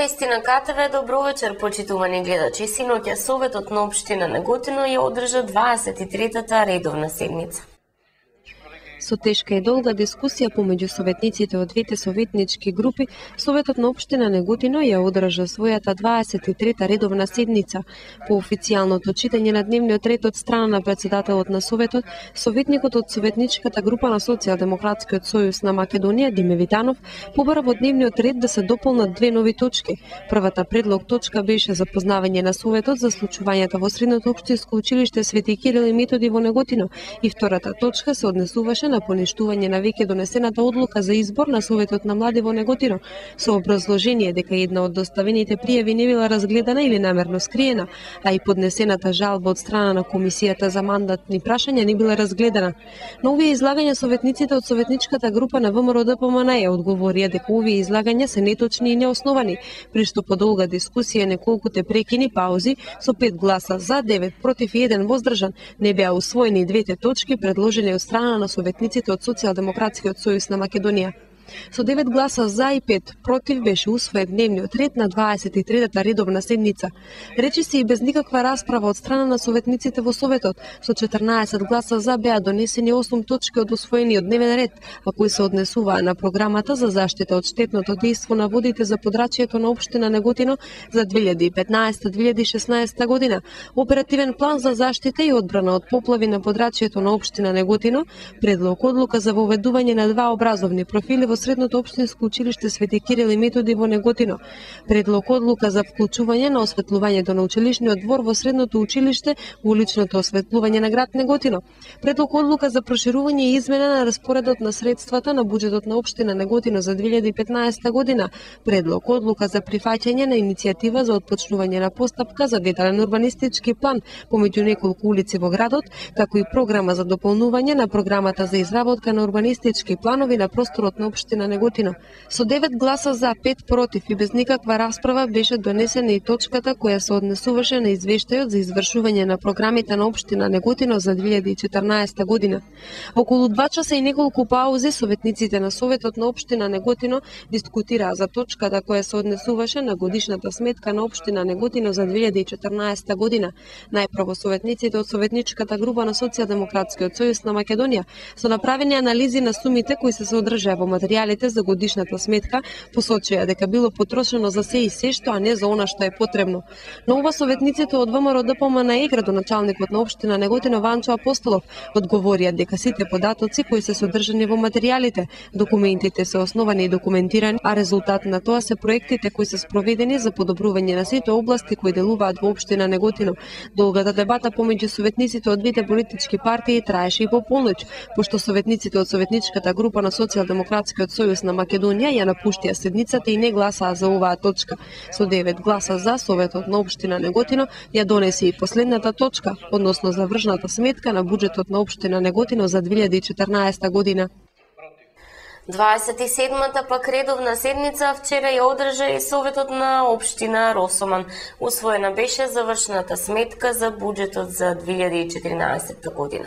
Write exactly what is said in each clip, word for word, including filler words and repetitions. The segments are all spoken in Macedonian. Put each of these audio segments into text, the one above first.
Вести на КТВ, добро вечер, почитувани гледачи. Синоќа Советот на општина Неготино ја одржа дваесет и третата редовна седница. Со тешка и долга дискусија помеѓу советниците од двете советнички групи, Советот на општина Неготино ја одржа својата дваесет и трета редовна седница. По официјалното читање на дневниот ред од страна на председателот на Советот, советникот од советничката група на Социјалдемократскиот сојуз на Македонија, Диме Витанов, побара во дневниот ред да се дополнат две нови точки. Првата предлог точка беше запознавање на Советот за случувањата во Средното општинско училиште Свети Кирил и Методи во Неготино, и втората точка се однесуваше на поништување на веќе донесената одлука за избор на Советот на млади во Неготино, со образложение дека една од доставените пријави не била разгледана или намерно скриена, а и поднесената жалба од страна на Комисијата за мандатни прашања не била разгледана. На овие излагања советниците од советничката група на ВМРО Д П М Н Е одговорија дека овие излагања се неточни и неосновани, при што по долга дискусија неколкуте прекини паузи со пет гласа за, девет против и еден воздржан не беа усвоени двете точки предложени од страна на советниците од Социјалдемократскиот сојуз на Македонија. Со девет гласа за и пет против беше усвоен дневниот ред на дваесет и третата редовна седница. Речи се и без никаква расправа од страна на советниците во Советот, со четрнаесет гласа за беа донесени осум точки од усвоениот дневен ред, а кои се однесуваа на програмата за заштита од штетното дејство на водите за подрачјето на општина Неготино за две илјади и петнаесета до две илјади и шеснаесета година, оперативен план за заштита и одбрана од поплави на подрачјето на општина Неготино, предлог одлука за воведување на два образовни профили во Средното општинско училиште Свети Кирил и Методи во Неготино, предлог одлука за вклучување на осветлувањето на училишниот двор во Средното училиште во уличното осветлување на град Неготино, предлог одлука за проширување и измена на распоредот на средствата на буџетот на општина Неготино за две илјади и петнаесета година, предлог одлука за прифаќање на иницијатива за отпочнување на постапка за детален урбанистички план помеѓу неколку улици во градот, како и програма за дополнување на програмата за изработка на урбанистички планови на просторот на општина Неготино. Со девет гласа за, пет против и без никаква расправа беше донесена и точката која се однесуваше на извештајот за извршување на програмите на општина Неготино за две илјади и четрнаесета година. Околу два часа и неколку паузи советниците на Советот на општина Неготино дискутираа за точката која се однесуваше на годишната сметка на општина Неготино за две илјади и четрнаесета година. Најпрво советниците од советничката група на Социјалдемократскиот сојуз на Македонија со направени анализи на сумите кои се содржаа во материјалите за годишната сметка, посочија дека било потрошено за се и се што, а не за она што е потребно. Но ова советниците од ВМРО Д П М Н Е, градоначалникот на општина Неготино Ванчо Апостолов, одговорија дека сите податоци кои се содржани во материјалите, документите се основани и документирани, а резултат на тоа се проектите кои се спроведени за подобрување на сите области кои делуваат во општина Неготино. Долгата дебата помеѓу советниците од двете политички партии траеше и по полноќ, пошто советниците од советничката група на Социјалдемократскиот сојуз на Македонија ја напуштија седницата и не гласаа за оваа точка. Со девет гласа за, Советот на општина Неготино ја донесе и последната точка, односно завршната сметка на буџетот на општина Неготино за две илјади и четрнаесета година. дваесет и седмата пак редовна седница вчера ја одржа и Советот на општина Росоман. Усвоена беше завршната сметка за буџетот за две илјади и четиринаесета година.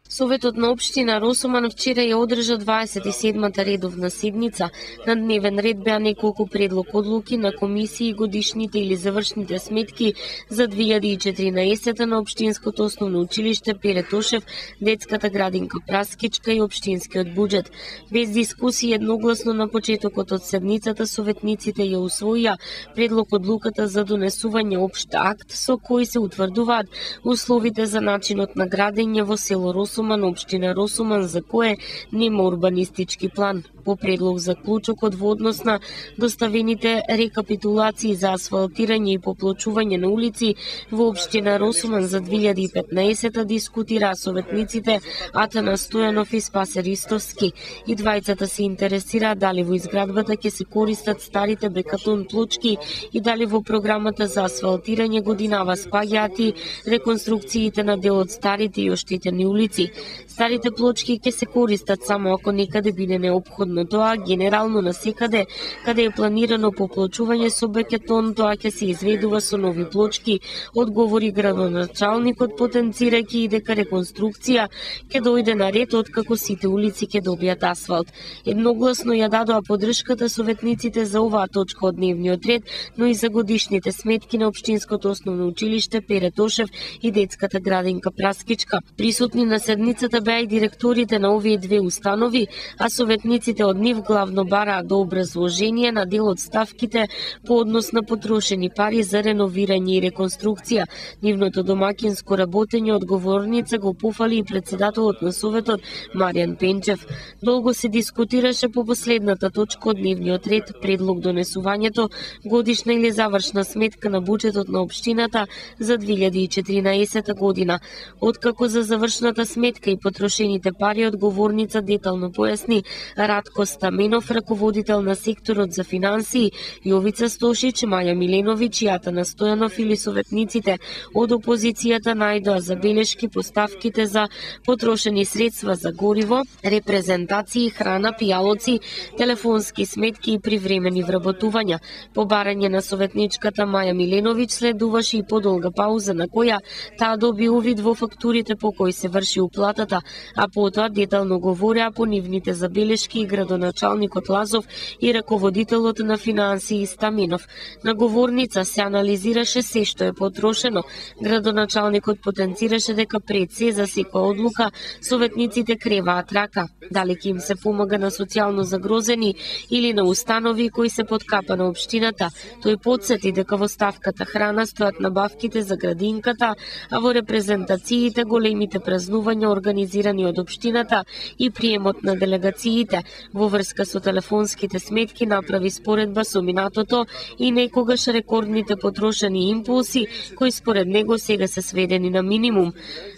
Советот на општина Росоман вчера ја одржа дваесет и седмата редовна седница. На дневен ред беа неколку предлог одлуки на комисии, годишните или завршните сметки за две илјади и четиринаесета на општинското основно училиште Пере Тошев, детската градинка Праскичка и општинскиот буџет. Без дискусија едногласно на почетокот од седницата советниците ја усвоија предлог одлуката за донесување општ акт со кој се утврдуваат условите за начинот на градење во село Росоман, општина Росоман, за кое нема урбанистички план. По предлог за клучокот во однос на доставените рекапитулации за асфалтирање и поплочување на улици во општина Росоман за две илјади и петнаесета дискутираа советниците Атана Стојанов и Спасе Ристовски. И двајцата се интересираа дали во изградбата ќе се користат старите бекатон плочки и дали во програмата за асфалтирање годинава спаѓаат и реконструкциите на дел од старите и оштетени улици. плочки. Старите плочки ќе се користат само ако некаде биде неопходно тоа, генерално насекаде каде е планирано поплочување со бетон, тоа ќе се изведува со нови плочки, одговори градоначалникот, потенцирајќи и дека реконструкција ќе дојде на ред откако сите улици ќе добијат асфалт. Едногласно ја дадоа поддршката советниците за оваа точка од дневниот ред, но и за годишните сметки на Општинското основно училиште Пере Тошев и детската градинка Праскичка. Присутни на седницата беа и директорите на овие две установи, а советниците од нив главно бараа до образложение на дел од ставките по однос на потрошени пари за реновирање и реконструкција. Нивното домакинско работење одговорница го пофали и председателот на Советот Маријан Пенчев. Долго се дискутираше по последната точка од дневниот ред, предлог донесувањето годишна или завршна сметка на буџетот на општината за две илјади и четиринаесета година. Откако за завршната сметка и потрошените пари одговорница детално појасни Радко Стаменов, раководител на секторот за финансии, Јовица Стошич, Маја Миленовиќ и Атана Стојанов или советниците од опозицијата најдоа забелешки по ставките за потрошени средства за гориво, репрезентации, храна, пијалоци, телефонски сметки и привремени вработувања. По барање на советничката Маја Миленовиќ следуваше и подолга пауза на која таа доби увид во фактурите по кои се врши уплатата, а потоа детално говореа по нивните забелешки и градоначалникот Лазов и раководителот на финансии Стаменов. На говорница се анализираше се што е потрошено. Градоначалникот потенцираше дека пред се за секоја одлука советниците креваат рака. Дали ќе им се помага на социјално загрозени или на установи кои се под капа на општината. Тој потсети дека во ставката храна стојат набавките за градинката, а во репрезентациите големите празнувања организирани од општината и приемот на делегациите. Во врска со телефонските сметки направи споредба со минатото и некогаш рекордните потрошени импулси, кои според него сега се сведени на минимум.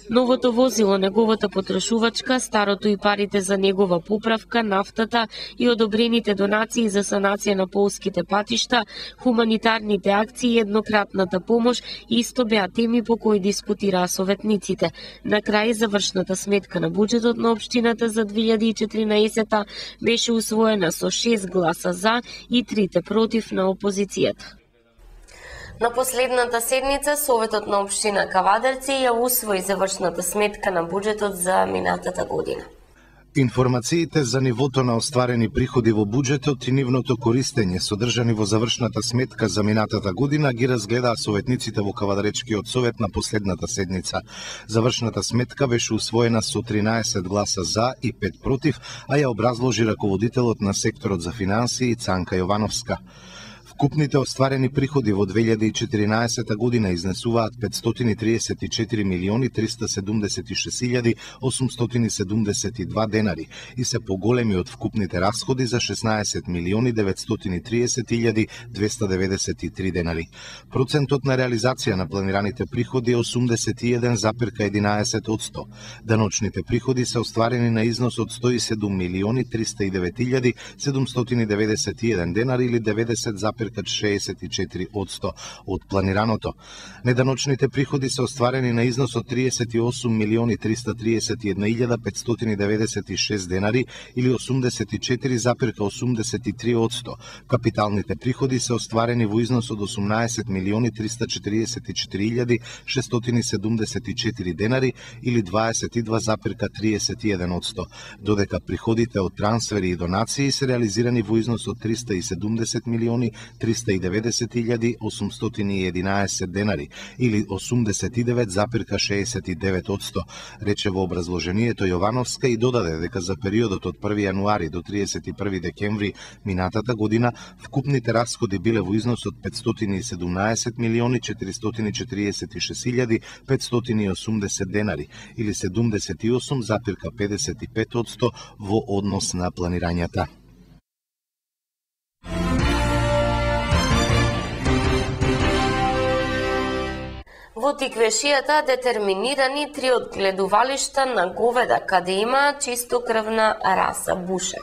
Новото возило, неговата потрошувачка, старото и парите за негова поправка, нафтата и одобрените донации за санација на полските патишта, хуманитарните акции и еднократната помош исто беа теми по кои дискутираа советниците. На крај, завршната сметка на буџетот на општината за две илјади и четиринаесета беше усвоена со шест гласа за и трите против на опозицијата. На последната седница, Советот на општина Кавадарци ја усвои завршната сметка на буџетот за минатата година. Информациите за нивото на остварени приходи во буџетот и нивното користење содржани во завршната сметка за минатата година ги разгледаа советниците во Кавадаречкиот совет на последната седница. Завршната сметка беше усвоена со тринаесет гласа за и пет против, а ја образложи раководителот на секторот за финансии Цанка Јовановска. Вкупните остварени приходи во две илјади и четиринаесета година изнесуваат петстотини триесет и четири милиони триста седумдесет и шест илјади осумстотини седумдесет и два денари и се поголеми од вкупните расходи за шеснаесет милиони деветстотини триесет илјади двеста деветдесет и три денари. Процентот на реализација на планираните приходи е осумдесет и еден запир единаесет одсто. Даночните приходи се остварени на износ од сто и седум милиони триста и девет илјади седумстотини деветдесет и еден денари или деветдесет запир шеесет и четири одсто од планираното. Неданочните приходи се остварени на износ од триесет и осум милиони триста триесет и една илјада петстотини деветдесет и шест денари или осумдесет и четири запир осумдесет и три одсто. Капиталните приходи се остварени во износ од осумнаесет милиони триста четириесет и четири илјади шестстотини седумдесет и четири денари или дваесет и два запир триесет и еден одсто, додека приходите од трансфери и донации се реализирани во износ од триста и седумдесет милиони триста и деветдесет илјади осумстотини и единаесет денари или осумдесет и девет запир шеесет и девет одсто, рече во образложението Јовановска и додаде дека за периодот од први јануари до триесет и први декември минатата година вкупните расходи биле во износ од петстотини и седумнаесет милиони четиристотини четириесет и шест илјади петстотини и осумдесет денари или седумдесет и осум запир педесет и пет одсто во однос на планирањата. Во Тиквешијата детерминирани три одгледувалишта на говеда, каде има чистокрвна раса буша.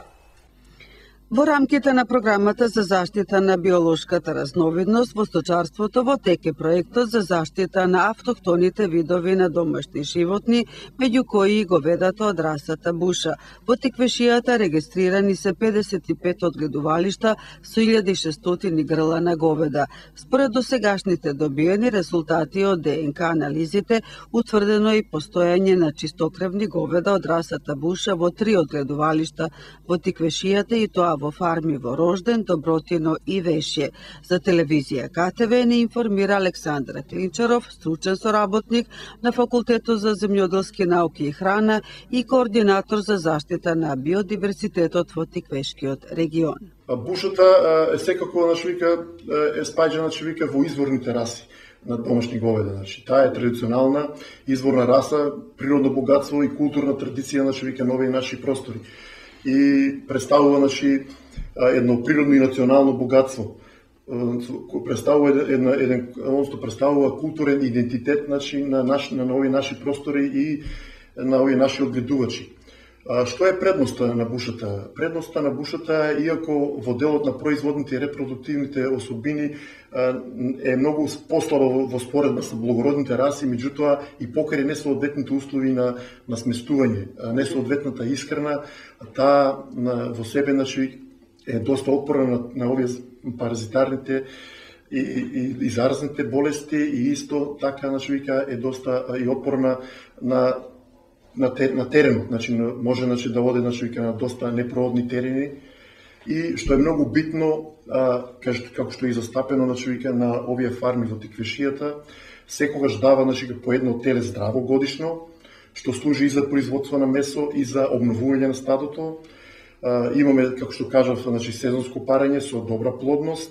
Во рамките на програмата за заштита на биолошката разновидност во сточарството во тек е проектот за заштита на автохтоните видови на домашни животни, меѓу кои и говедата од расата буша. Во Теквешијата регистрирани се педесет и пет одгледувалишта со илјада и шестстотини грла на говеда. Според досегашните добиени резултати од ДНК анализите, утврдено и постојање на чистокрвни говеда од расата буша во три одгледувалишта во Теквешијата и тоа во фарми во Рожден, Добротино и Вешје. За телевизија КТВ ни информира Александра Клинчаров, стручен соработник на Факултетот за земјоделски науки и храна и координатор за заштита на биодиверситетот во Теквешкиот регион. Бушата е секако, значи вика, е спаѓана, значи вика, во изворните раси на домашни говеда. Значи, таа е традиционална изворна раса, природно богатство и културна традиција, значи вика, на овие наши простори. И представува, значи, едно природно и национално богатство. Представува една еден односно представува културен идентитет, значи, на наш на овие наши простори и на овие наши одгледувачи. Што е предноста на бушата? Предноста на бушата, иако во делот на производните и репродуктивните особини е многу послаба во споредба со благородните раси, меѓутоа и покрај несоодветните услови на, на сместување, несоодветната исхрана, таа во себе, значи, е доста отпорна на, на овие паразитарните и, и, и заразните болести и исто така, значи, вика, е доста и отпорна на на, тер, на теренот, значи може, значи, да оде, значи, вика, на доста непроодни терени и што е многу битно, а, како што е застапено, значи, вика, на овие фарми во Теквешијата, секогаш дава, значи, по едно теле здраво годишно, што служи и за производство на месо и за обновување на стадото. А, имаме, како што кажав, значи, сезонско парење со добра плодност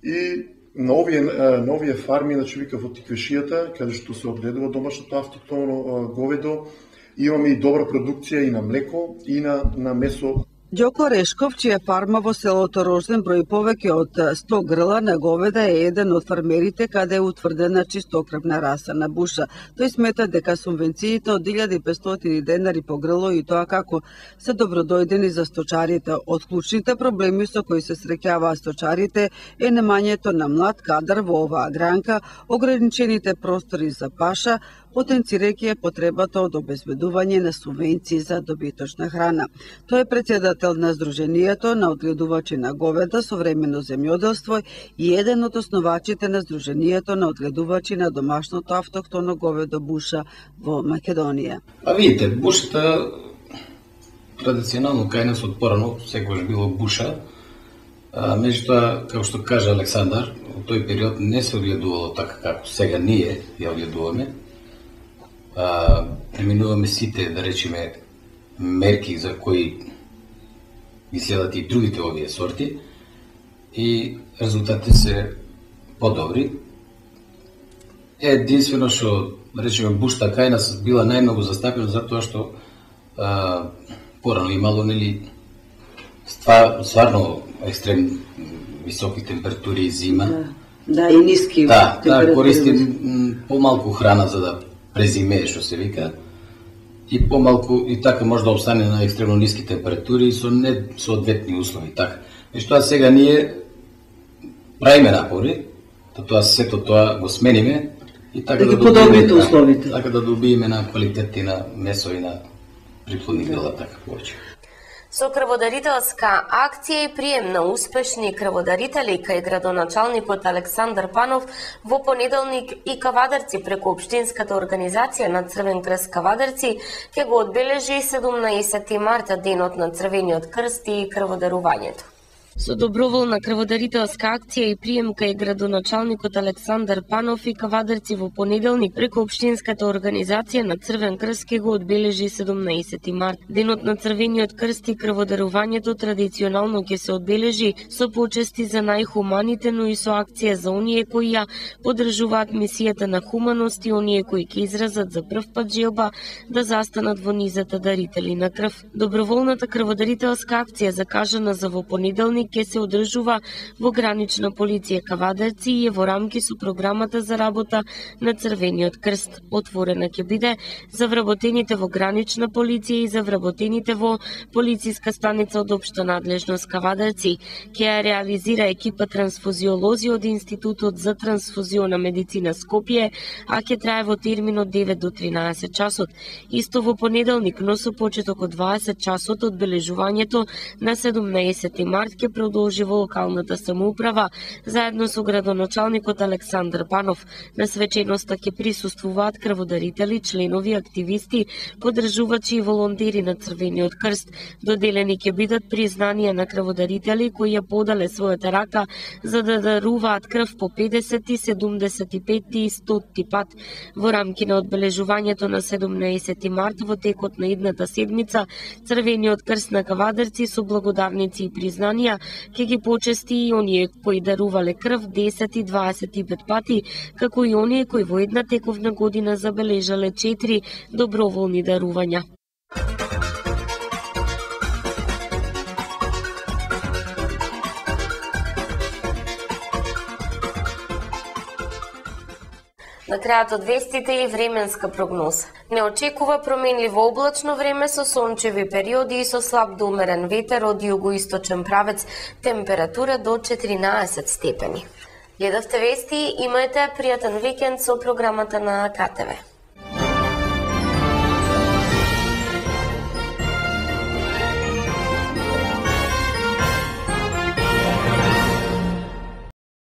и на овие, на овие фарми, значи, вика, во Теквешијата, каде што се одгледува домашното автохтоно говедо, имаме и добра продукција и на млеко и на, на месо. Ѓоко Решков, чија фарма во селото Рожден брои повеќе од сто грла на говеда, е еден од фармерите каде е утврдена чистокрвна раса на буша. Тој смета дека субвенциите од илјада и петстотини денари по грло и тоа како се добродојдени за сточарите. Од клучните проблеми со кои се среќаваат сточарите е немањето на млад кадар во оваа гранка, ограничените простори за паша, потенцирајќи потребата од обезбедување на субвенции за добиточна храна. Тој е председател на Сдруженијето на одгледувачи на говеда современо земјоделство и еден од основачите на Сдруженијето на одгледувачи на домашното автохтоно говедо буша во Македонија. А видите, бушата традиционално кај нас од порано секогаш било буша. А, меѓутоа, како што кажа Александар, во тој период не се одгледувало така како сега ние ја одгледуваме. А, преминуваме сите, да речеме, мерки за кои ги следат и другите овие сорти и резултатите се подобри. Единствено што, да речеме, бушта кај нас била најмногу застапена затоа што а, порано имало, нели, ства, стварно екстрем високи температури и зима. Да, да, и ниски да, температури. Да, користим помалку храна за да презимее, што се вика, и помалку, и така може да обстане на екстремно ниски температури и со несоодветни услови, така. Меѓутоа сега ние правиме напори, да тоа сето тоа го смениме и така да, да подобрите условите. Така да добиеме на квалитет и на месо и на приплодни грла, така повеќе. Со крводарителска акција и прием на успешни крводарители кај градоначалникот Александар Панов во понеделник и Кавадарци преку Општинската организација на Црвен крст Кавадарци ќе го одбележи седумнаесети март, денот на Црвениот крст и крводарувањето. Со доброволна крводарителска акција и прием кај градоначалникот Александар Панов и Кавадарци во понеделник преку Општинската организација на Црвен крст ќе го одбележи седумнаесети март. Денот на Црвениот крст и крводарувањето традиционално ќе се одбележи со почести за најхуманите, но и со акција за оние кои ја поддржуваат мисијата на хуманост и оние кои ќе изразат за прв пат желба да застанат во низата дарители на крв. Доброволната крводарителска акција закажана за во понеделник работеник ќе се одржува во гранична полиција Кавадарци и е во рамки со програмата за работа на Црвениот крст. Отворена ќе биде за вработените во гранична полиција и за вработените во полициска станица од општа надлежност Кавадарци. Ќе ја реализира екипа трансфузиолози од Институтот за трансфузиона медицина Скопје, а ќе трае во термин од девет до тринаесет часот. Исто во понеделник, но со почеток од дваесет часот, одбележувањето на седумнаесети март ќе продолжи во локалната самоуправа заедно со градоначалникот Александар Панов. На свеченоста ќе присуствуваат крводарители, членови, активисти, поддржувачи и волонтери на Црвениот крст. Доделени ќе бидат признанија на крводарители кои ја подале својата рака за да даруваат крв по педесети, седумдесети петти и стоти пат. Во рамки на одбележувањето на седумнаесети март во текот на идната седмица, Црвениот крст на Кавадарци со благодарници и признанија ќе ги почести и оние кои дарувале крв десет и дваесет и пет пати, како и оние кои во една тековна година забележале четири доброволни дарувања. На крајот од вестите и временска прогноза. Не очекува променливо облачно време со сончеви периоди и со слаб до умерен ветер од југоисточен правец, температура до четиринаесет степени. Гледавте вести, имајте пријатен викенд со програмата на К Т В.